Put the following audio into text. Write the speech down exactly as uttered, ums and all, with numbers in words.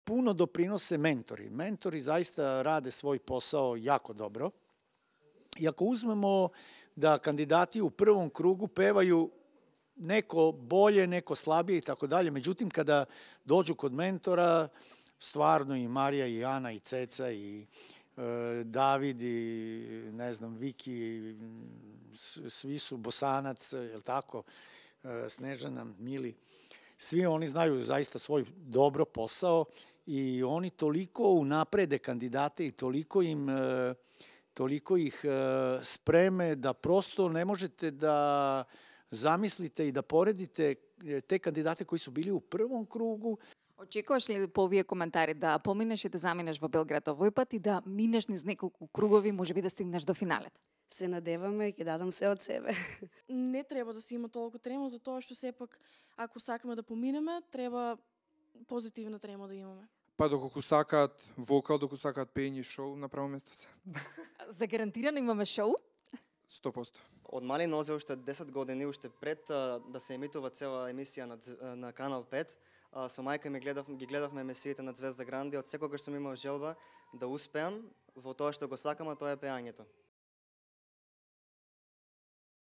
puno doprinose mentori. Mentori zaista rade svoj posao jako dobro. I ako uzmemo da kandidati u prvom krugu pevaju neko bolje, neko slabije i tako dalje, međutim kada dođu kod mentora, stvarno i Marija i Ana i Ceca i e, David i ne znam Viki, svi su Bosanac, jel tako, e, Snežana, Mili, svi oni znaju zaista svoj dobro posao i oni toliko unaprede kandidate i toliko im e, toliko ih e, spreme da prosto ne možete da zamislite и да поредите те кандидати кои су били у првом кругу. Очекуваш ли по овие коментари да поминеш и да заминеш во Белград овој пат и да минеш низ неколку кругови, можеби да стигнеш до финалето? Се надеваме и ќе дадам се од себе. Не треба да се има толку трема, затоа што сепак ако сакаме да поминеме, треба позитивна трема да имаме. Па доколку сакаат вокал, доколку сакаат пење и шоу, на право место се. За гарантирано имаме шоу? сто проценти. Од мали нозе уште десет години, уште пред а, да се емитува цела емисија на, на Канал пет, а, со мајка ми гледав, ги гледавме емисиите на Звезда Гранди, од секогаш сум имал желба да успеам во тоа што го сакам, а тоа е пеањето.